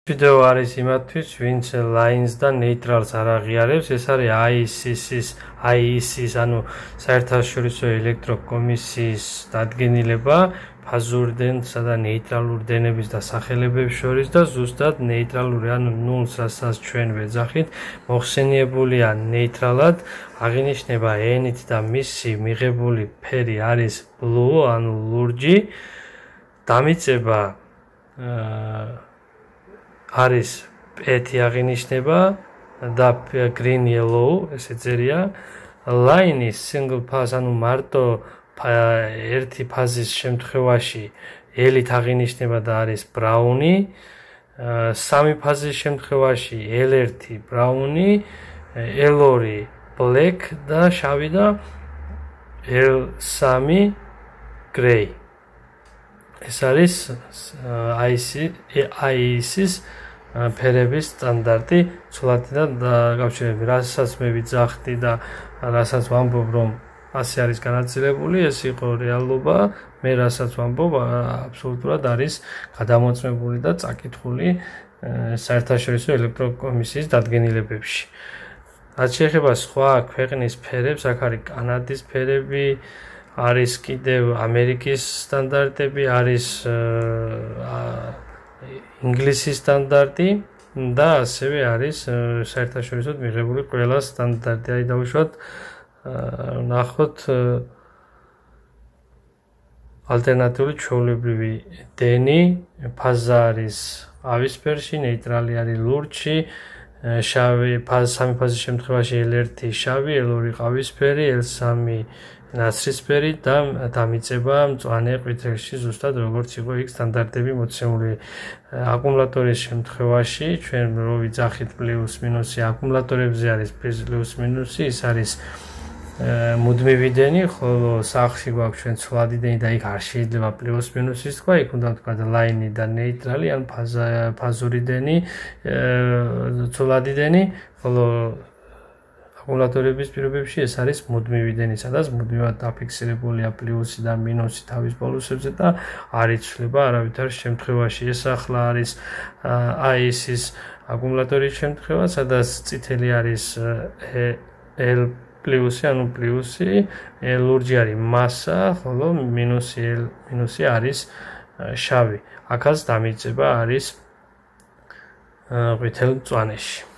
ვიდეო არის იმათთვის, ვინც lines და neutrals არ აღიარებს, ეს არის IEC-ის, ანუ საერთაშორისო ელექტროკომისიის დადგენილება ფაზურდენსა და ნეიტრალურ დენების დასახელებებს შორის და ზუსტად ნეიტრალური, ანუ ნულს, რასაც ჩვენ ვეძახით, მოხსენიებულია ნეიტრალად, აღინიშნება n-ით და მისი მიღებული ფერი არის blue, ანუ ლურჯი, დამიწება არის პ-ი აღინიშნება და green yellow, ესე წერია. Line-ის single pass, ანუ მარტო ერთი ფაზის შემთხვევაში L-ით აღინიშნება და არის brown-ი, სამი ფაზის შემთხვევაში L1 brown-ი, L2 black და შავი და L3 grey. ეს არის IEC-ის ფერების სტანდარტი ცვლადიდან დაკავშირებით, რასაც მე ვიძახდი და რასაც ვამბობ, რომ ასე არის განაწილებული, ეს იყო რეალობა, მე რასაც ვამბობ, აბსოლუტურად არის გადამოწმებული და წაკითხული საერთაშორისო ელექტროკომისიის დადგენილებებში. რაც შეეხება სხვა ქვეყნის ფერებს, აქ არის კანადის ფერები, არის კიდევ ამერიკის სტანდარტები, არის ინგლისის სტანდარტი და ასევე არის საერთაშორისოდ მიღებული ყველა სტანდარტი. აი დავუშვათ, ნახოთ ალტერნატიული ჩვეულებრივი დენი, ფაზა არის ყავისფერში, ნეიტრალი არის ლურჯში, შავი სამი ფაზის შემთხვევაში L1 შავი, L2 ყავისფერი, L3 ნაცრისფერი და დამიწება მწვანე ყვითელში, ზუსტად როგორც იყო იქ სტანდარტები მოცემული. აკუმულატორის შემთხვევაში ჩვენ რო ვიძახით პლუს მინუსი, აკუმულატორებზე არის პლუს მინუსი, ის არის მუდმივი დენი, ხოლო სახლში გვაქვს ჩვენ ცვლადი დენი და იქ არ შეიძლება პლუს მინუსის თქვა, იქ უნდა თქვა line და ნეიტრალი, ან ფაზური დენი, ცვლადი დენი, ხოლო აკუმულატორების პირობებში ეს არის მუდმივი დენი, სადაც მუდმივად დაფიქსირებულია პლუსი და მინუსი თავის პოლუსებზე და არ იცვლება არავითარ შემთხვევაში. ეს ახლა არის IEC-ის აკუმულატორის შემთხვევა, სადაც წითელი არის L პლუსი, ანუ პლუსი, ლურჯი არის მასა, ხოლო მინუსი არის შავი. აქაც დამიწება არის ყვითელ მწვანეში.